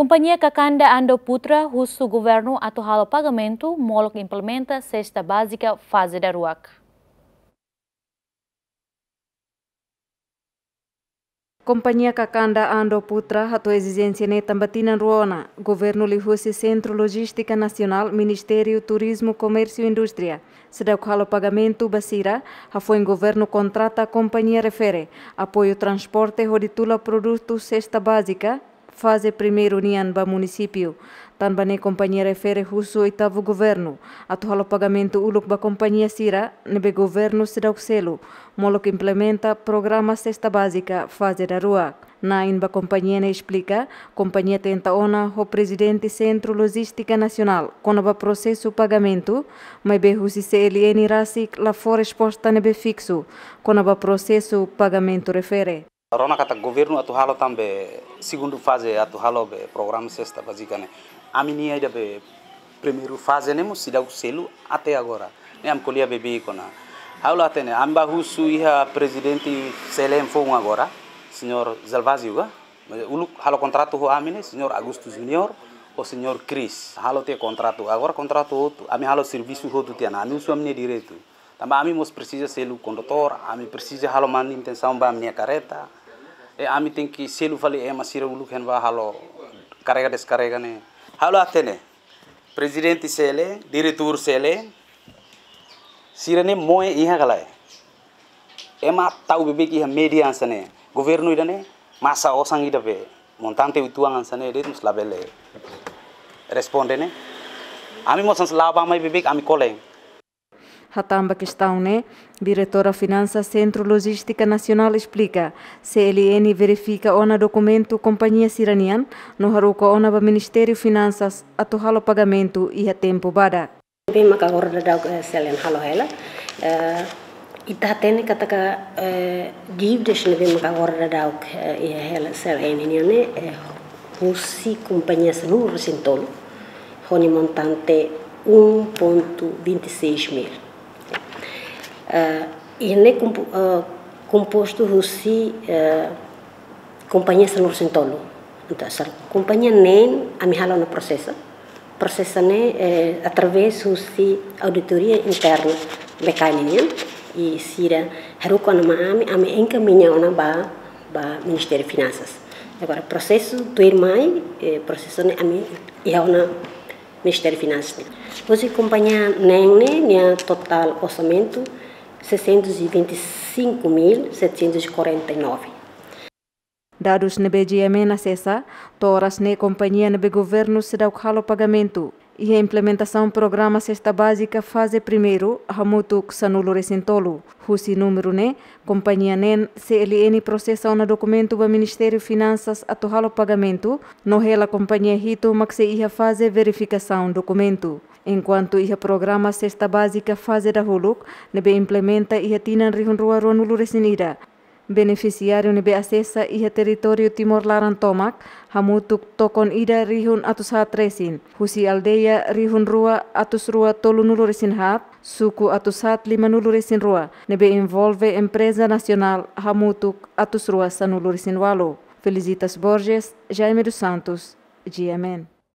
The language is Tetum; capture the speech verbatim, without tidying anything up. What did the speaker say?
Kompañia Kakanda Ando Putra husu governu atu halo pagamentu molok implementa sesta bázika faze daruak. Kompañia Kakanda Ando Putra hato'o ezijénsia ne'e tanba tinan rua ona, governu liuhusi Sentru Lojístika Nasionál, Ministériu Turizmu, Komérsiu Indústria, seidauk halo pagamentu ba sira, hafoin governu kontrata kompañia refere, apoiu transporte hodi tula produtu sesta bázika faze primeiru nian ba munisípiu. Tanba ne'e kompañia refere husu oitavu governu atu halo pagamentu uluk ba kompañia sira ne'ebé governu seidauk selu, molok implementa programa sesta bázika faze daruak. Na'in ba kompañia ne'e esplika, kompañia tenta ona ho prezidente Sentru Lojístika Nasionál kona-ba prosesu pagamentu, maibé husi C L N rasik la fó resposta ne'ebé fiksu kona-ba prosesu pagamentu refere. Rona katak governu atu halo tan be segundu faze atu halo be programa sesta bázika ne'e. Ami-nia ida be primeiru faze ne'e mós seidauk selu até agora. Ne'e ami ko'alia beibeik ona. Ha'u la hatene, ami bá husu iha prezidente C L N foun agora, señór Gervásio ka? Uluk halo kontratu ho ami ne'e, señór Augusto Júnior, ho señór Cris. Halo tiha kontratu, agora kontratu hotu, ami halo servisu hotu tiha ona, ami husu ami-nia direitu. Tanba ami mós presiza selu kondutór, ami presiza halo manutensaun ba ami-nia karreta. I ami tenke selu fali ema sira uluk hein bá halo karrega deskarrega ne'e. Ha'u la hatene, prezidente C L N, diretór C L N, sira-ne'e moe iha ka lae? Ema tau beibeik iha média hanesan ne'e. Governu ida-ne'e, masa osan ida be montante uitoan hanesan ne'e de'it mós labele responde ne'e. Ami mós hanesan la'o bá mai beibeik ami kolen. Hatán ba kestaun ne'e, Diretora Finansas Sentru Lojístika Nasionál esplika, C L N verifika ona dokumentu kompañia sira-nian, no haruka ona ba Ministériu Finansas atu halo pagamentu iha tempu badak. Ne'ebé maka agora daudaun, eh, C L N halo hela. Eh, ita hatene katak, eh, dívidas ne'ebé maka agora daudaun, eh, iha hela C L N nian ne'e, eh, husi kompañia sanulu-resin-tolu, ho nia montante um ponto vinte e seis mil. Eh, i ne'e kompo-, eh, kompostu husi, eh, kompañia sanulu-resin-tolu. Entaun, sar-, kompañia neen ami halo ona prosesu. Prosesu ne'e, eh, através husi auditoria interna B K N nian, i sira haruka ona mai ami, ami enkamiña ona ba, ba Ministériu Finansas. Agora, prosesu tuirmai, eh, prosesu ne'e ami iha ona Ministériu Finansas. Husi kompañia neen ne'e, nia totál orsamentu seiscentos e vinte e cinco mil setecentos e quarenta e nove. Dadus ne'ebé G M N asesa, to'o oras ne'e kompañia ne'ebé governu seidauk halo pagamentu iha implementasaun programa sesta bázika faze primeiru hamutuk sanulu-resin-tolu. Husi númeru ne'e, kompañia neen C L N prosesa ona dokumentu ba Ministériu Finansas atu halo pagamentu, no hela kompañia hitu mak sei iha faze verifikasaun dokumentu. Enkuantu iha programa sesta bázika faze dahuluk, ne'ebé implementa iha tinan rihun rua ruanulu-resin-ida, benefisiáriu ne'ebé asesa iha territóriu Timor laran tomak, hamutuk tokon ida rihun atus haat resin, husi aldeia rihun rua atus rua tolunulu-resin-haat, suku atus haat limanulu-resin-rua, ne'ebé envolve empreza nasionál hamutuk atus rua sanulu-resin-ualu. Felicitas Borges, Jaime dos Santos, G M N.